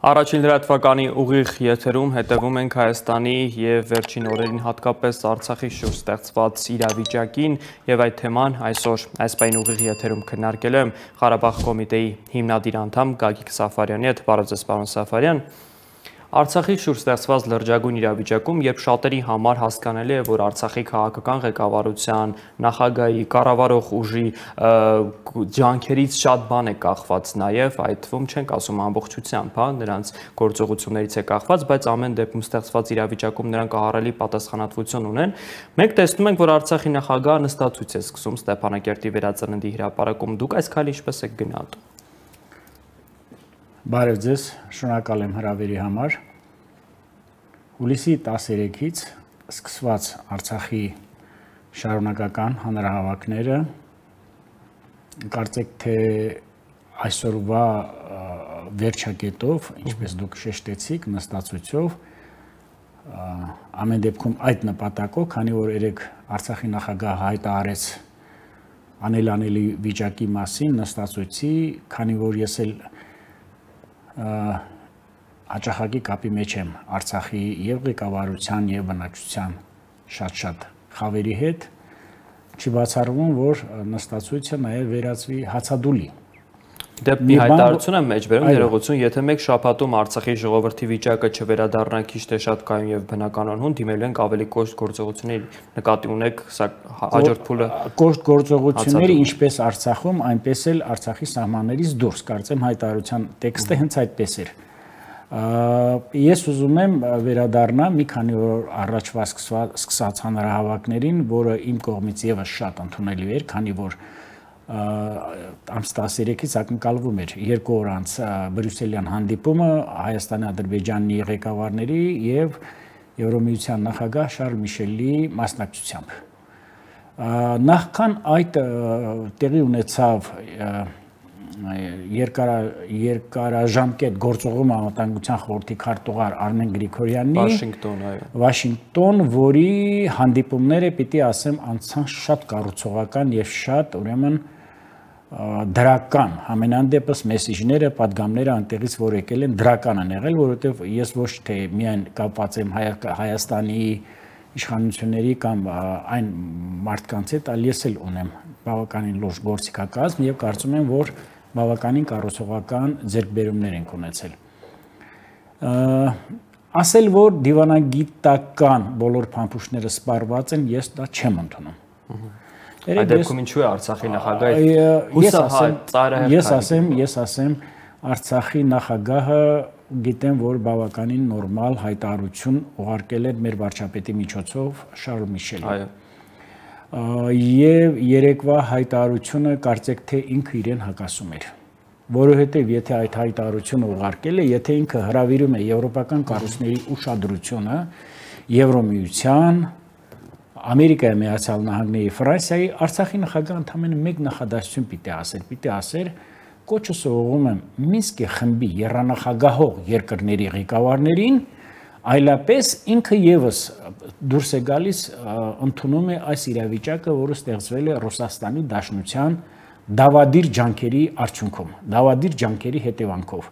Առաջին լրատվականի ուղիղ եթերում հետևում ենք Հայաստանի և վերջին օրերին հատկապես Արցախի շուրջ ստեղծված իրավիճակին և այդ թեման այսօր այս պահին ուղիղ եթերում քննարկելու եմ Ղարաբաղ կոմիտեի հիմնադիր անդամ Գագիկ Սաֆարյանի հետ։ Բարև ձեզ, պարոն Սաֆարյան։ Արցախի շուրջ ստեղծված լրջագույն իրավիճակում, երբ շատերի համար հասկանալի է, որ Արցախի քաղաքական ղեկավարության, նախագահի, կառավարող ուժի ջանքերից շատ բան է կախված, նաև այդ թվում չենք ասում ամբողջությամբ, նրանց գործողություններից է կախված, բայց ամեն դեպքում ստեղծված իրավիճակում նրանք ահռելի պատասխանատվություն ունեն։ Մենք տեսնում ենք, որ Արցախի նախագահը նստացույց է սկսում Ստեփանակերտի վերածննդի հրապարակում։ Դուք այս քայլի ինչպես եք գնահատում։ Բարև ձեզ, շնորհակալ եմ հրավերի համար։ Հուլիսի 13-ից սկսված Արցախի շարունակական հանրահավաքները կարծեք թե այսօրվա վերջակետով, ինչպես դուք շեշտեցիք, նստացույցով ամեն դեպքում այդ նպատակով, քանի որ երեք Արցախի նախագահը հայտարարեց անելանելի վիճակի մասին նստացույցի, քանի որ ես էլ հաճախակի կապի մեջ եմ Արցախի եւ ղեկավարության եւ բնակչության շատ խավերի հետ, չի բացառվում, որ նստացույցը նաեւ վերածվի հացադուլի։ Դեպի հայտարարություն եմ մեջբերում ներողություն, եթե մեկ շաբաթում Արցախի ժողովրդի վիճակը չվերադառնա քիչ թե շատ կայուն եւ բնականon, դիմելու ենք ավելի կոշտ գործողությունների, նկատի ունեք սա հաջորդ փուլը կոշտ գործողությունների ինչպես Արցախում, այնպես էլ Արցախի սահմաններից դուրս, կարծեմ հայտարարության տեքստը հենց այդպես էր։ Ես ուզում եմ վերադառնալ մի քանի օր առաջվա սկսած հանրահավաքներին, որը իմ կողմից եւս շատ ընդունելի էր, քանի որ ամս 13-ից ակնկալվում էր 2 օր անց բրյուսելյան հանդիպումը Հայաստանի, Ադրբեջանի ղեկավարների եւ Եվրոմիության նախագահ Շարլ Միշելի մասնակցությամբ։ Նախքան այդ տեղի ունեցավ երկարաժամկետ գործողում անվտանգության խորհրդի քարտուղար Արմեն Գրիգորյանի Վաշինգտոն, որի հանդիպումները պիտի ասեմ անցան շատ կառուցողական եւ շատ ուրեմն դրական, համենայն դեպս մեսիջները, պատգամները անտեղից որ եկել են դրական են եղել, որովհետև ես ոչ թե միայն կապված եմ Հայաստանի իշխանությունների կամ այն մարդկանց հետ, այլ ես էլ ունեմ բավականին լուրջ գործիքակազմ եւ կարծում եմ, որ բավականին կառուցողական ձեռքբերումներ ենք ունեցել։ Ասել, որ դիվանագիտական բոլոր փամփուշտները սպառված են, ես դա չեմ ընդունում։ Այդ դեպքում ինչու է Արցախի նախագահը Ես ասեմ Արցախի նախագահը գիտեմ, որ բավականին նորմալ հայտարարություն ուղարկել է մեր վարչապետի միջոցով Շարլ Միշելին։ Եվ երեկվա հայտարարությունը կարծեք թե ինքը իրեն հակասում էր, որովհետև եթե այդ հայտարարությունը ուղարկել է, եթե ինքը հրավիրում է եվրոպական կառույցների ուշադրությունը Եվրոմիության, Ամերիկայի Միացյալ Նահանգների, Ֆրանսիայի, Արցախի նախագահը ընդամենը մեկ նախադասություն պիտի ասեր, կոչը սողում եմ Մինսկի խմբի եռանախագահող երկրների ղեկավարներին, այլապես ինքը եւս դուրս է գալիս ընդունում է այս իրավիճակը, որը ստեղծվել է Ռուսաստանի Դաշնության դավադիր ջանքերի արդյունքում, դավադիր ջանքերի հետևանքով։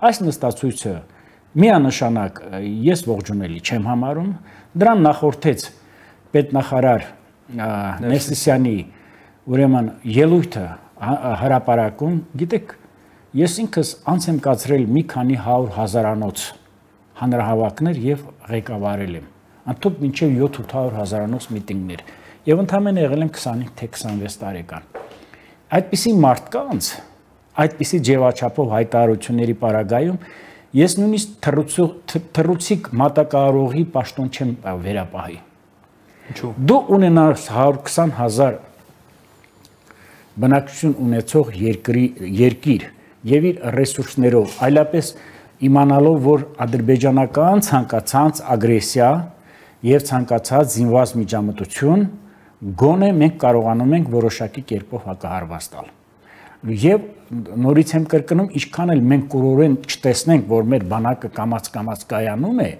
Այս նստացույցը միանշանակ ես ողջունելի չեմ համարում, դրան նախորդեց պետնախարար Ներսիսյանի ուրեմն ելույթը հրապարակում, գիտեք, ես ինքս անց եմ կացրել մի քանի 100,000-անոց հանրահավաքներ եւ ղեկավարել եմ, ընդհանուր մինչեւ 700,000-անոց միտինգներ եւ ընդամենը եղել եմ 25 թե 26 տարեկան։ Այդպիսի մարդկանց, այդպիսի ջևաչափով հայտարարությունների պարագայում ես նույնիսկ թռուցիկ մատակարարողի պաշտոն չեմ վերապահի։ Դու ունենաս 120,000 բնակչություն ունեցող երկիր եւ իր ռեսուրսներով, այլապես իմանալով, որ ադրբեջանական ցանկացած ագրեսիա եւ ցանկացած զինված միջամտություն գոնե մենք կարողանում ենք որոշակի կերպով հակահարված տալ։ Եվ նորից եմ կրկնում, ինչքան էլ մենք կուրորեն չտեսնենք, որ մեր բանակը կամաց կայանում է,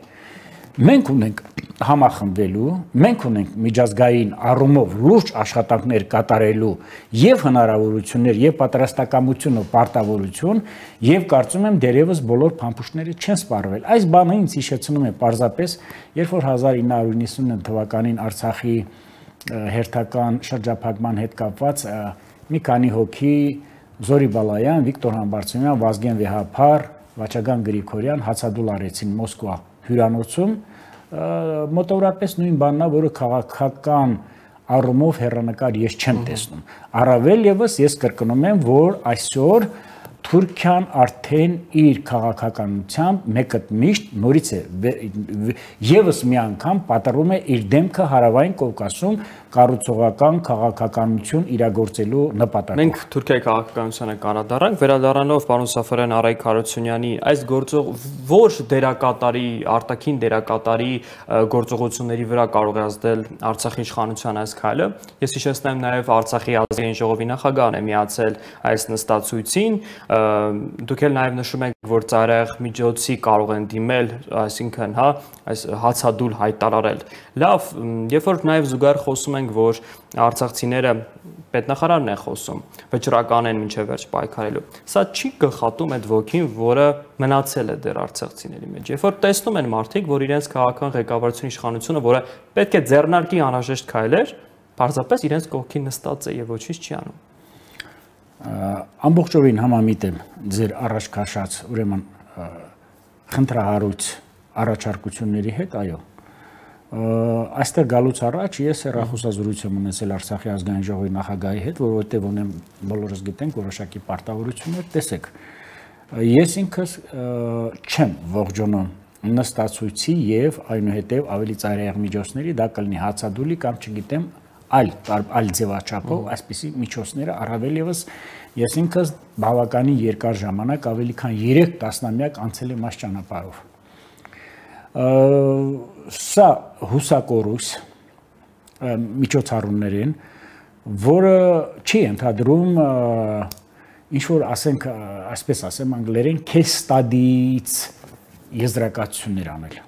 մենք ունենք համախմբվելու, մենք ունենք միջազգային առումով լուրջ աշխատանքներ կատարելու եւ հնարավորություններ եւ պատրաստակամություն ու պարտավորություն եւ կարծում եմ դերևս բոլոր փամփուշտները չեն սպառվել։ Այս բանը ինձ հիշեցնում է պարզապես, երբ որ 1999 թվականին Արցախի հերթական շրջափակման հետ կապված մի քանի հոգի Զորի Բալայան, Վիկտոր Համբարձումյան, Վազգեն Վեհափար, Վաչագան Գրիգորյան հացադուլ արեցին Մոսկվա հյուրանոցում, մոտավորապես նույն բանն է, որը քաղաքական առումով հեռանկար ես չեմ տեսնում։ Առավել եւս ես կրկնում եմ, որ այսօր Թուրքիան արդեն իր քաղաքականությամբ մեկը միշտ նորից է եւս մի անգամ պատռում է իր դեմքը հարավային Կովկասում կառուցողական քաղաքականություն իրագործելու նպատակով։ Մենք Թուրքիայի քաղաքականությանը կանադառնանք, վերադառնալով պարոն Սաֆարյան Արայք Հարությունյանի այս գործող ոչ դերակատարի, արտաքին դերակատարի գործողությունների վրա կարող է ազդել Արցախի իշխանության այս քայլը։ Ես հիշեցնեմ նաև Արցախի ազգային ժողովի նախագահն է միացել այս նստացույցին, դուք էլ նաև նշում եք, որ ծայրահեղ միջոցի կարող են դիմել, այսինքն, հա, այս հացադուլ հայտարարել։ Լավ, երբ որ նաև զուգահեռ խոսում ենք, որ արցախցիները պետնախարարն է խոսում, վճռական են մինչև վերջ պայքարելու։ Սա չի գլխատում այդ ոգին, որը մնացել է դեռ արցախցիների մեջ։ Երբ որ տեսնում են մարդիկ, որ իրենց քաղաքական ղեկավարության իշխանությունը, որը պետք է ձեռնարկի անհրաժեշտ քայլեր, պարզապես իրենց կողքին նստած է եւ ոչինչ չի անում։ Ամբողջովին համամիտ եմ ձեր առաջ քաշած, ուրեմն խնդրահարույց առաջարկությունների հետ, այո։ Այստեղ գալուց առաջ ես հեռախոսազրույց եմ ունեցել Արցախի ազգային ժողովի նախագահի հետ, որովհետև ունեմ բոլորս գիտենք որոշակի պարտավորություններ, տեսեք։ Ես ինքս չեմ ողջունում նստացույցի եւ այնուհետեւ ավելի ծայրահեղ միջոցների, դա կլինի հացադուլի կամ չգիտեմ այլ ձևաչափով այսպիսի միջոցները առավել եւս ես ինքս բավականին երկար ժամանակ ավելի քան 3 տասնամյակ անցել եմ այս ճանապարհով։ Սա հուսակորույս միջոցառումներ են, որը չի ընդհանրում ինչ որ ասենք, այսպես ասեմ անգլերեն case study-ից եզրակացություններ անել։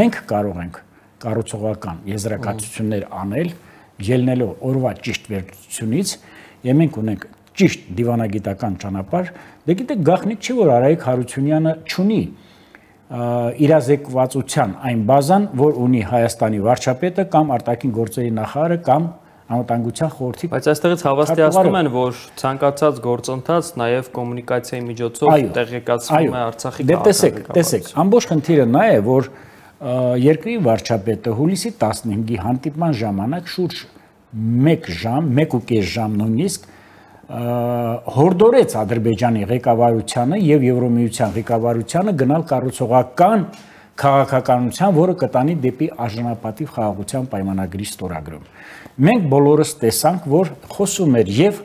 Մենք կարող ենք կառուցողական եզրակացություններ անել ելնելով օրվա ճիշտ վերջությունից, եւ մենք ունենք ճիշտ դիվանագիտական ճանապարհ, դե գիտեք գաղտնիք չի, որ Արայք Հարությունյանը չունի իրազեկվածության այն բազան, որ ունի Հայաստանի վարչապետը կամ արտաքին գործերի նախարարը կամ անվտանգության խորհրդի։ Բայց այստեղից հավաստիացնում են, որ ցանկացած գործընթաց նաև կոմունիկացիայի միջոցով տեղեկացվում է Արցախի քաղաքական։ Տեսեք, ամբողջ խնդիրը նա է, որ երկրի վարչապետը հուլիսի 15-ի հանդիպման ժամանակ շուրջ 1 ժամ, 1.5 ժամ նույնիսկ հորդորեց Ադրբեջանի ղեկավարությանը եւ Եվրոմիության ղեկավարությանը գնալ կառուցողական քաղաքականության, որը կտանի դեպի արժանապատիվ խաղաղության պայմանագրի ստորագրում։ Մենք բոլորս տեսանք, որ խոսում էր եւ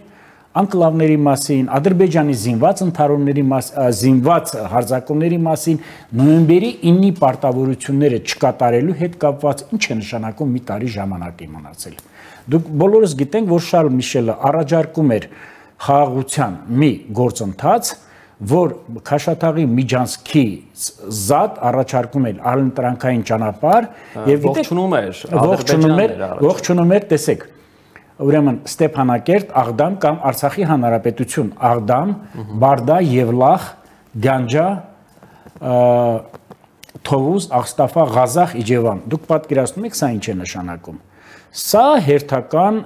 անկլավների մասին, Ադրբեջանի զինված ընդհարումների մասին, զինված հարձակումների մասին, նոյեմբերի 9-ի պարտավորությունները չկատարելու հետ կապված ինչ է նշանակում մի տարի ժամանակ է մնացել։ Դուք բոլորս գիտենք, որ Շարլ Միշելը առաջարկում էր խաղաղության մի գործընթաց, որ Քաշաթաղի Միջանցքի զատ առաջարկում էր արևմտրանքային ճանապարհ եւ ողջունում էր, տեսեք, ուրեմն Ստեփանակերտ, Աղդամ կամ Արցախի Հանրապետություն, Աղդամ, Բարդա, Եվլախ, Գանջա, Թովուզ, Աղստաֆա, Ղազախ, Իջևան։ Դուք պատկերացնում եք սա ինչ է նշանակում։ Սա հերթական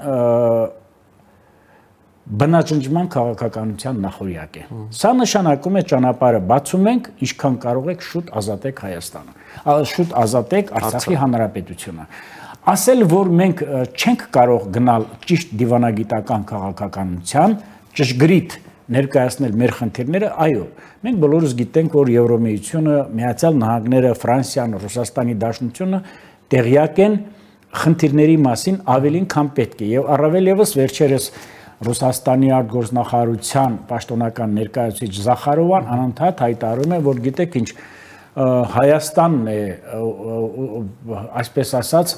բնաջնջման քաղաքականության նախօրյակ է։ Սա նշանակում է ճանապարհը բացում ենք, ինչքան կարող եք շուտ ազատեք Հայաստանը, շուտ ազատեք Արցախի Հանրապետությունը։ Ասել, որ մենք չենք կարող գնալ ճիշտ դիվանագիտական քաղաքականության, ճշգրիտ ներկայացնել մեր խնդիրները, այո, մենք բոլորս գիտենք, որ Եվրոմիությունը, Միացյալ Նահանգները, Ֆրանսիան, Ռուսաստանի Դաշնությունը տեղյակ են խնդիրների մասին ավելին, քան պետք է, եւ առավել եւս վերջերս Ռուսաստանի արտգործնախարարության պաշտոնական ներկայացուցիչ Զախարովան անընդհատ հայտարարում է, որ գիտեք ինչ, Հայաստանն է, այսպես ասած,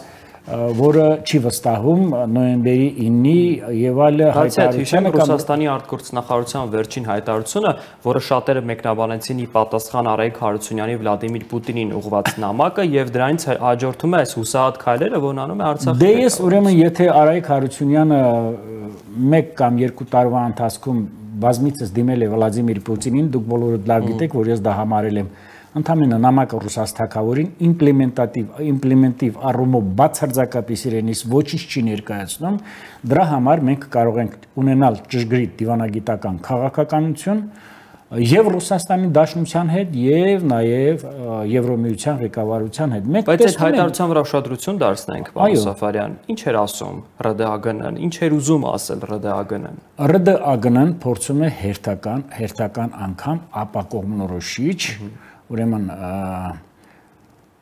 որը չի վստահում նոյեմբերի 9-ի եւ այլ հայտարարությանը Ռուսաստանի արտգործնախարարության վերջին հայտարարությունը, որը շատերը մեկնաբանեցին ի պատասխան Արայիկ Հարությունյանի Վլադիմիր Պուտինին ուղղված նամակը եւ դրանից հաջորդում է այս հուսահատ քայլերը, որն անում է Արցախի։ Դե ես ուրեմն եթե Արայիկ Հարությունյանը 1 կամ 2 տարվա ընթացքում բազմիցս դիմել է Վլադիմիր Պուտինին, դուք բոլորը լավ գիտեք, որ ես դա համարել եմ ընդամենը նամակը ռուսաց թագավորին իմպլեմենտիվ առումով բացարձակապես իրենից ոչինչ չի ներկայացնում, դրա համար մենք կարող ենք ունենալ ճշգրիտ դիվանագիտական քաղաքականություն եւ Ռուսաստանի Դաշնության հետ եւ նաեւ Եվրոմիության ղեկավարության հետ։ Բայց այդ հայտարարության վրա ուշադրություն դարձնենք, պարոն Սաֆարյան, ինչ էր ասում ՌԴԱԳՆ-ն, ինչ էր ուզում ասել ՌԴԱԳՆ-ն։ ՌԴԱԳՆ-ն փորձում է հերթական անգամ ապակողմնորոշիչ ուրեմն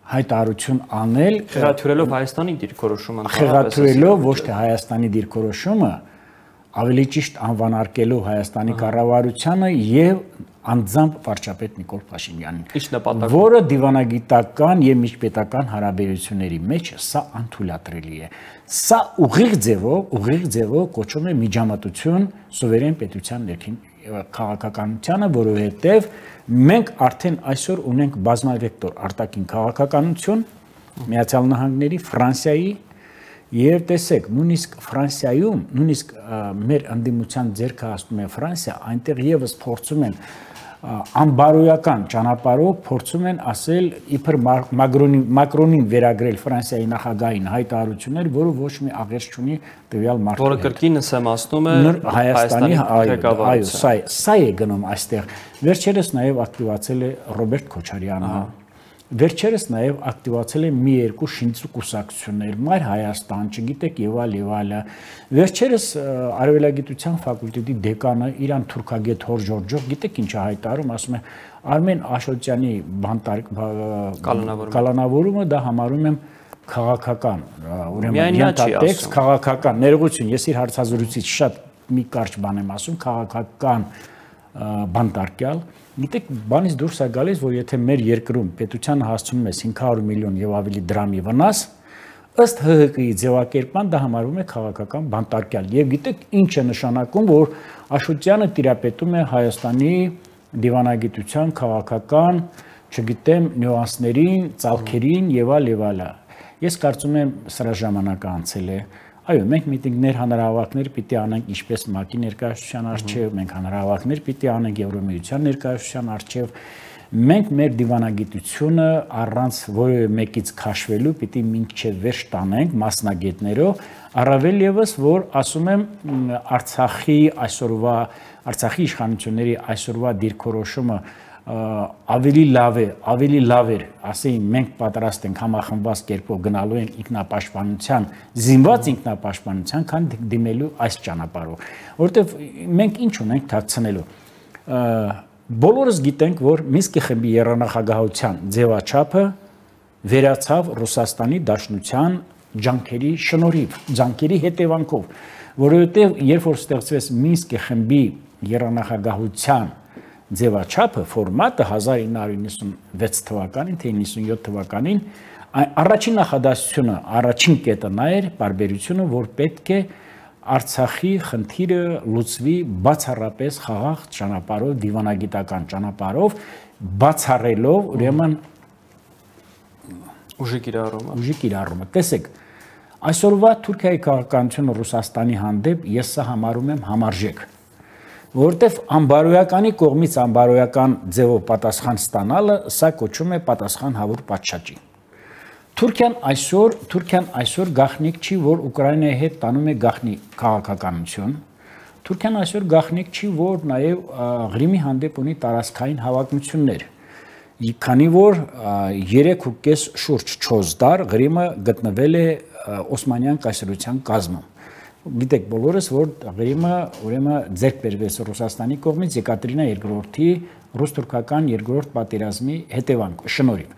հայտարարություն անել խեղաթյուրելով Հայաստանի դիրքորոշումը խեղաթյուրելով ոչ թե Հայաստանի դիրքորոշումը ավելի ճիշտ անվանարկելով Հայաստանի կառավարությանը եւ անձամբ վարչապետ Նիկոլ Փաշինյանին, որը դիվանագիտական եւ միջպետական հարաբերությունների մեջ սա անթույլատրելի է։ Սա ուղիղ ձևով կոչվում է միջամտություն սուվերեն պետության ներքին քաղաքականությանը, որովհետև մենք արդեն այսօր ունենք բազմավեկտոր արտաքին քաղաքականություն Միացյալ Նահանգների, Ֆրանսիայի եւ տեսեք, նույնիսկ Ֆրանսիայում, նույնիսկ մեր ընդդիմության ձեռքը հասնում է Ֆրանսիա, այնտեղ եւս փորձում են անբարոյական ճանապարհով փորձում են ասել իբր Մակրոնին վերագրել Ֆրանսիայի նախագահային հայտարարություններ, որը ոչ մի աղերս չունի տվյալ մարդու հետ։ Որը կրկին նսեմացնում է Հայաստանի ղեկավարությունը։ Սա է գնում այստեղ։ Վերջերս նաև ակտիվացել է Ռոբերտ Քոչարյանը։ Վերջերս նաև ակտիվացել է մի երկու շինծու կուսակցություններ, Մայր Հայաստան, չգիտեք եւ այլ։ Վերջերս Արևելագիտության ֆակուլտետի դեկանը Իրան թուրքագետ Հոր Ժորջով, գիտեք ինչ է հայտարարում, ասում է Արմեն Աշոտյանի կալանավորումը դա համարում եմ քաղաքական, ուրեմն ենթատեքստ քաղաքական ներողություն, ես իր հարցազրույցից շատ մի կարճ բան եմ ասում, քաղաքական բանտարկյալ։ Գիտեք, բանից դուրս է գալիս, որ եթե մեր երկրում պետությանը հասցնում է 500 միլիոն եւ ավելի դրամի վնաս, ըստ ՀՀԿ-ի ձևակերպման դա համարվում է քաղաքական բանտարկյալ։ Եվ գիտեք, ինչ է նշանակում, որ Աշոտյանը տիրապետում է Հայաստանի դիվանագիտության քաղաքական, չգիտեմ, նյուանսներին, ծալքերին եւ այլ։ Ես կարծում եմ սրա ժամանակը անցել է։ Այո, մենք միտինգներ, հանրահավաքներ պիտի անենք ինչպես ՄԱԿ-ի ներկայացության առջև, մենք հանրահավաքներ պիտի անենք Եվրոմիության ներկայացության առջև, մենք մեր դիվանագիտությունը առանց որևէ մեկից քաշվելու պիտի մինչև վերջ տանենք մասնագետներով, առավել եւս, որ ասում եմ Արցախի իշխանությունների այսօրվա դիրքորոշումը ավելի լավ էր, ասեին մենք պատրաստ ենք համախմբված կերպով գնալու ենք ինքնապաշտպանության, զինված ինքնապաշտպանության, քան դիմելու այս ճանապարհով, որովհետև մենք ինչ ունենք թաքցնելու։ Բոլորս գիտենք, որ Մինսկի խմբի եռանախագահության ձևաչափը վերացավ Ռուսաստանի Դաշնության ջանքերի շնորհիվ, ջանքերի հետևանքով, որովհետև երբ որ ստեղծվեց Մինսկի խմբի եռանախագահության ձևաչափը, ֆորմատը 1996 թվականին, թե 97 թվականին, առաջին նախադասությունը, առաջին կետը նա էր բարբերությունը, որ պետք է Արցախի խնդիրը լուծվի բացառապես խաղաղ ճանապարհով, դիվանագիտական ճանապարհով, բացառելով ուրեմն ուժի կիրառումը։ Տեսեք, այսօրվա Թուրքիայի քաղաքականությունը Ռուսաստանի հանդեպ ես սա համարում եմ համարժեք, որովհետև անբարոյականի կողմից անբարոյական ձևով պատասխան ստանալը սա կոչվում է պատասխան հավուր պատշաճի։ Թուրքիան այսօր գաղտնիք չի, որ Ուկրաինայի հետ տանում է գաղտնի քաղաքականություն։ Թուրքիան այսօր գաղտնիք չի, որ նաև Ղրիմի հանդեպ ունի տարածքային հավակնություններ։ Քանի որ 3.5 շուրջ 4 դար Ղրիմը գտնվել է Օսմանյան կայսրության կազմում։ Գիտեք բոլորս, որ Ղրիմը ուրեմն ձեռք բերվեց Ռուսաստանի կողմից Եկատերինա II-ի ռուս-թուրքական երկրորդ պատերազմի շնորհիվ։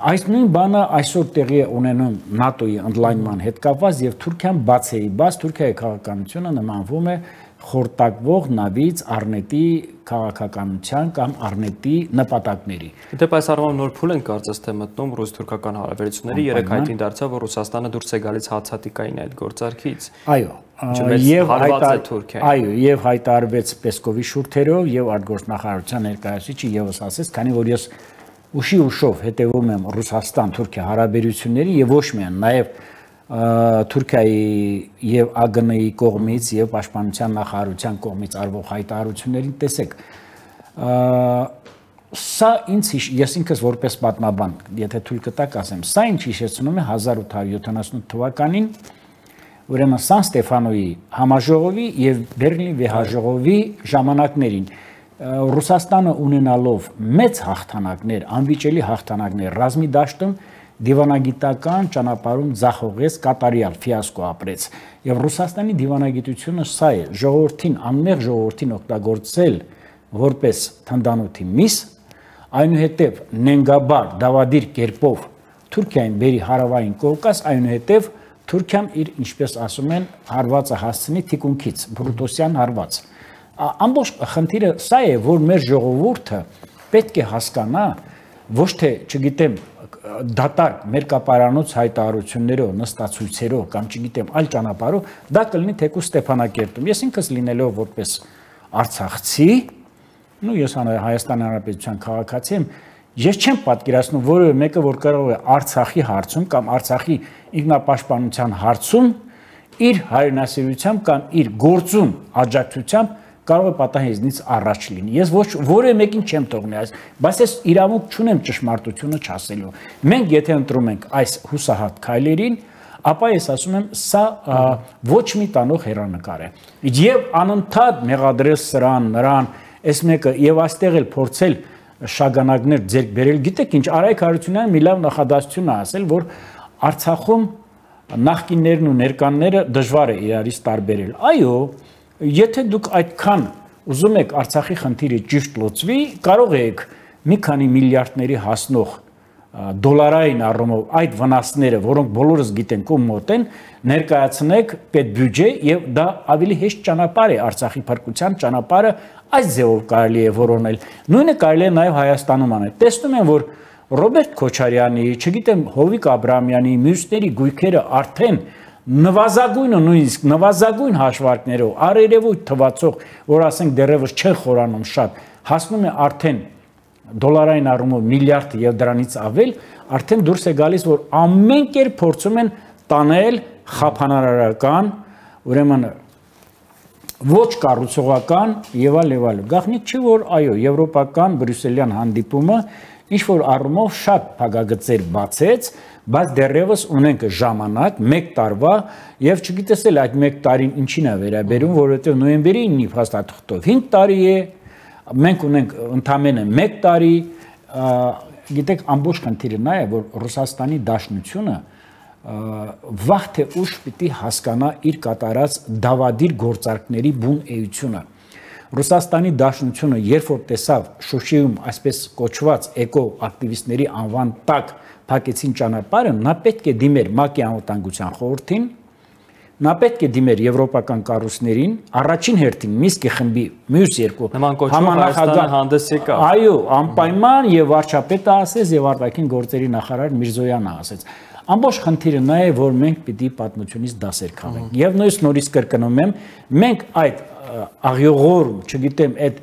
Այս նույն բանը այսօր տեղի է ունենում ՆԱՏՕ-ի ընդլայնման հետ կապված եւ Թուրքիան բաց Թուրքիայի քաղաքականությունը նմանվում է խորտակվող նավից առնետի քաղաքականության կամ առնետի նպատակների։ Դեպ այս առումով նոր փուլ են կարծես թե մտնում ռուս-թուրքական հարաբերությունների, երեք հայտին դարձավ, որ Ռուսաստանը դուրս է գալիս հացատիկային այդ գործարքից։ Եվ հայտարարվեց Պեսկովի շուրթերով եւ արտգործնախարարության ներկայացուցիչը եւս ասեց, քանի որ ես ուշի ուշով հետևում եմ Ռուսաստան-Թուրքիա հարաբերությունների եւ ոչ միայն նաեւ Թուրքիայի եւ ԱԳՆ-ի կողմից եւ պաշտպանության նախարարության կողմից արվող հայտարարություններին տեսեք սա ինձ ես ինքս որպես պատմաբան եթե թույլ կտակ ասեմ սա ինչ հիշեցնում է 1878 թվականին ուրեմն Սան Ստեֆանոյի համաժողովի եւ Բերլինի վեհաժողովի ժամանակներին Ռուսաստանը ունենալով մեծ հաղթանակներ անվիճելի հաղթանակներ ռազմի դաշտում դիվանագիտական ճանապարհում ձախողեց կատարյալ ֆիասկո ապրեց եւ Ռուսաստանի դիվանագիտությունը սա է ժողովրդին անմեղ ժողովրդին օգտագործել որպես թնդանոթի միս այնուհետև նենգաբար դավադիր կերպով Թուրքիային բերի հարավային Կովկաս այնուհետև Թուրքիան իր ինչպես ասում են հարվածը հասցնի թիկունքից բրուտոսյան հարված ամբողջ խնդիրը սա է որ մեր ժողովուրդը պետք է հասկանա ոչ թե չգիտեմ դատարկ մերկապարանոց հայտարարություններով, նստացույցերով կամ չգիտեմ այլ ճանապարհով դա կլինի թեկուզ Ստեփանակերտում։ Ես ինքս լինելով որպես արցախցի, ես Հայաստանի Հանրապետության քաղաքացի եմ, ես չեմ պատկերացնում որևէ մեկը որ կարող է Արցախի հարցում կամ Արցախի ինքնապաշտպանության հարցում իր հայրենասիրությամբ կամ իր գործուն աջակցությամբ կարող է պատահեզնից առաջ լինի։ Ես որևէ մեկին չեմ թողնի այս, բայց ես իրավունք չունեմ ճշմարտությունը չասելու։ Մենք եթե ընտրում ենք այս հուսահատ քայլերին, ապա ես ասում եմ, սա ոչ մի տանող հեռանկար է։ Եվ անընդհատ մեղադրել սրան, նրան, այս մեկը եւ այստեղ էլ փորձել շագանակներ ձեռք բերել։ Գիտեք ինչ, Արայք Հարությունյանը մի լավ նախադասություն է ասել, որ Արցախում նախկիններն ու ներկանները դժվար է իրարից տարբերել։ Այո, եթե դուք այդքան ուզում եք Արցախի խնդիրը ճիշտ լուծվի, կարող եք մի քանի միլիարդների հասնող դոլարային առումով այդ վնասները, որոնք բոլորս գիտենք ու մոտ են, ներկայացնեք պետբյուջե եւ դա ավելի հեշտ ճանապարհ է Արցախի փրկության ճանապարհը այս ձևով կարելի է որոնել։ Նույնը կարելի է նաեւ Հայաստանում անել։ Տեսնում եմ, որ Ռոբերտ Քոչարյանի, չգիտեմ, Հովիկ Աբրահամյանի, մյուսների գույքերը արդեն նվազագույնը նույնիսկ նվազագույն հաշվարկներով արերևույթ թվացող, որ ասենք դեռևս չեն խորանում շատ, հասնում է արդեն դոլարային առումով միլիարդ եւ դրանից ավել, արդեն դուրս է գալիս, որ ամեն կերպ փորձում են տանել խափանարարական, ուրեմն ոչ կառուցողական եւ այլ։ Գաղտնիք չի, որ այո, եվրոպական բրյուսելյան հանդիպումը ինչ որ առումով շատ փակագծեր բացեց, բայց դեռևս ունենք ժամանակ 1 տարվա եւ չգիտես էլ այդ 1 տարին ինչին է վերաբերում, որովհետեւ նոյեմբերի 9-ի փաստաթղթով 5 տարի է, մենք ունենք ընդամենը 1 տարի, գիտեք, ամբողջ խնդիրը նա է, որ Ռուսաստանի Դաշնությունը վաղ թե ուշ պիտի հասկանա իր կատարած դավադիր գործարքների բուն էությունը։ Ռուսաստանի Դաշնությունը երբ որ տեսավ Շուշիում այսպես կոչված էկո ակտիվիստների անվան տակ փակեցին ճանապարհը, նա պետք է դիմեր ՄԱԿ-ի անվտանգության խորհրդին, նա պետք է դիմեր եվրոպական կառույցներին, առաջին հերթին Մինսկի խմբի մյուս երկու համանախագահ հանդես եկավ։ Այո, անպայման եւ վարչապետը ասեց եւ արտաքին գործերի նախարար Միրզոյանը ասեց։ Ամբողջ խնդիրը նա է, որ մենք պիտի պատմությունից դասեր քաղենք։ Եվ նորից կրկնում եմ, մենք այդ աղյողորմ, չգիտեմ, այդ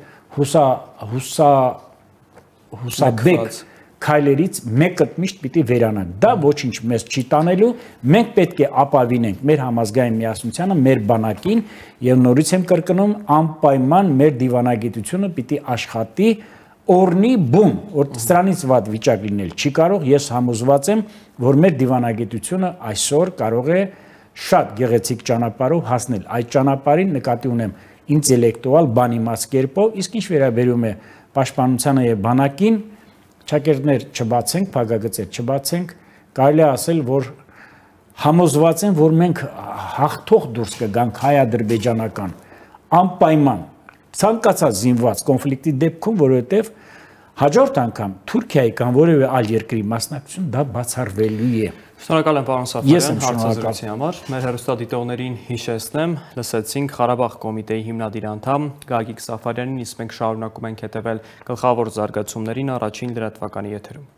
հուսաբեկ քայլերից մեկը միշտ պիտի վերանանք։ Դա ոչինչ մեզ չի տանելու, մենք պետք է ապավինենք մեր համազգային միասնությանը, մեր բանակին եւ նորից եմ կրկնում, անպայման մեր դիվանագիտությունը պիտի աշխատի օրնի բում, որ սրանից վատ վիճակ լինել չի կարող, ես համոզված եմ, որ մեր դիվանագիտությունը այսօր կարող է շատ գեղեցիկ ճանապարհով հասնել։ Այդ ճանապարհին նկատի ունեմ ինտելեկտուալ բանիմաց կերպով, իսկ ինչ վերաբերում է պաշտպանությանը եւ բանակին, ճակերտներ չբացենք, փակագծեր չբացենք, կարելի է ասել, որ համոզված եմ, որ մենք հաղթող դուրս կգանք հայ-ադրբեջանական անպայման ցանկացած զինված կոնֆլիկտի դեպքում, որովհետեւ Հաջորդ անգամ Թուրքիայի կամ որևէ այլ երկրի մասնակցություն դա բացառվելու է։ Շնորհակալ եմ պարոն Սաֆարյան հարցազրույցի համար։ Մեր հեռուստադիտողներին հիշեցնեմ, լսեցինք Ղարաբաղ կոմիտեի հիմնադիր անդամ Գագիկ Սաֆարյանին, իսկ մենք շարունակում ենք հետևել գլխավոր զարգացումներին առաջին լրատվականի եթերում։